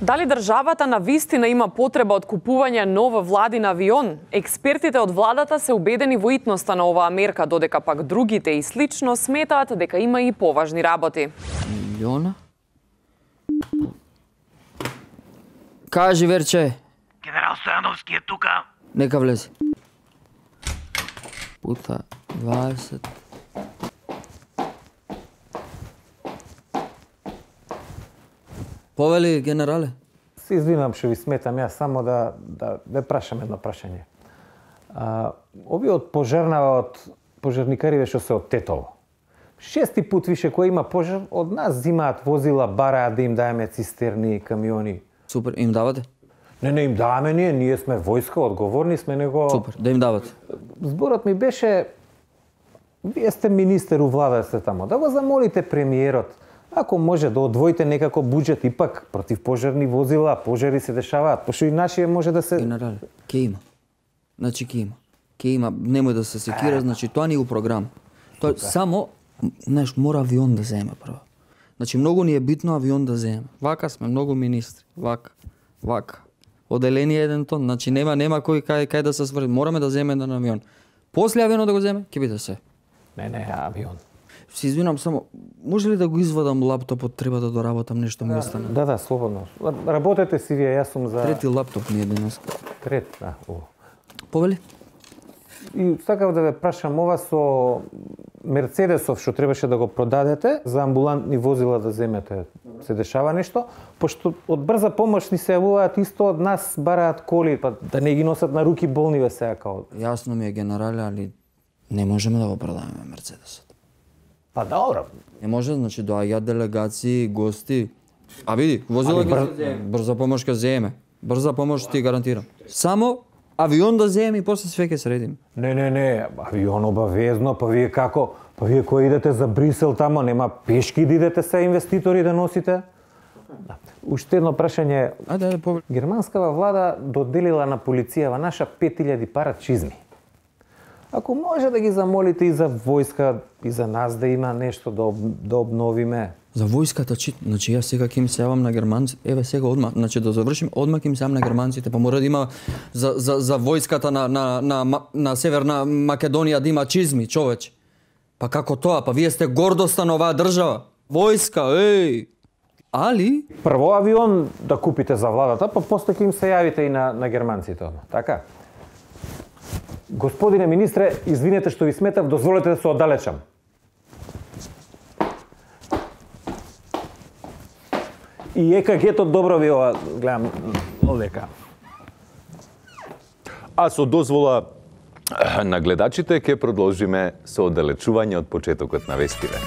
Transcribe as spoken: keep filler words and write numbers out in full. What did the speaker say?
Дали државата на вистина има потреба од купување нов владин авион? Експертите од владата се убедени во итноста на оваа мерка, додека пак другите и слично сметаат дека има и поважни работи. Милиона? Кажи, Верче. Генерал Стојановски е тука. Нека влези. Пута дваесет. Повели, генерале? Се извинувам што ви сметам, јас само да, да ве прашам едно прашање. А, овие од пожарнава, од пожарникариве што се од Тетово. Шести пут више кој има пожар, од нас зимаат возила, бараат да им даеме цистерни, камиони. Супер, им давате? Не, не им даваме ние, ние сме војска, одговорни сме, него... Супер, да им давате. Зборот ми беше, вие сте министер у влада сте тамо, да го замолите премиерот, ако може да одвоите некако буџет, ипак против пожарни возила, пожари се дешаваат, пошто и нашие може да се... Генерале, ке има. Значи ке има. Ке има, немој да се секира, значи тоа ни е у програм. Тоа само, знаеш, мора авион да земе прво. Значи многу ни е битно авион да земе. Вака сме многу министри, вака, вака. Оделени е еден тон, значи нема нема кој кај кај да се сврди. Мораме да земе еден авион. После авионот да го земе, ќе биде се. Не, не, авион. Се извинам само, може ли да го извадам лаптопот, треба да доработам нешто ми остана. Да, да, слободно. Работете си вие, јас сум за... Трети лаптоп ми е денес. Трет, да. О. Повели? И сакав да ве прашам, ова со Мерцедесов што требаше да го продадете, за амбулантни возила да земете, се дешава нешто? Пошто од брза помош ни се јавуваат исто од нас, бараат коли, па да не ги носат на руки болниве сега као. Јасно ми е, генерале, али не можеме да го продадеме Мерцедесот. Па добро. Не може, значи доаѓаат делегации, гости. А види, возила ги бър... се брза помош ќе земе. Брза помош ти гарантирам. Само авион да земе и после све ќе средим. Не, не, не, авион обавезно, па вие како? Па вие кои идете за Брисел тамо, нема пешки да идете се инвеститори да носите? Да. Уште едно прашање. Ајде, ајде, повели. Германскава влада доделила на полицијава наша пет илјади пара чизми. Ако може да ги замолите и за војска, и за нас да има нешто да, об, да обновиме. За војската чит, значи јас сега ќе им се јавам на германци, еве сега одма, значи да завршим, одма ќе им се јавам на германците, па мора да има за за за војската на на на на, на Северна Македонија да има чизми, човече. Па како тоа? Па вие сте гордоста на оваа држава. Војска, еј. Али Прво авион да купите за владата, па после ќе им се јавите и на на германците, така? Господине министре, извинете што ви сметав, дозволете да се оддалечам. И е ка гето добро ви ова, гледам, овдека. А со дозвола на гледачите ќе продолжиме со оддалечување од почетокот на вестиве.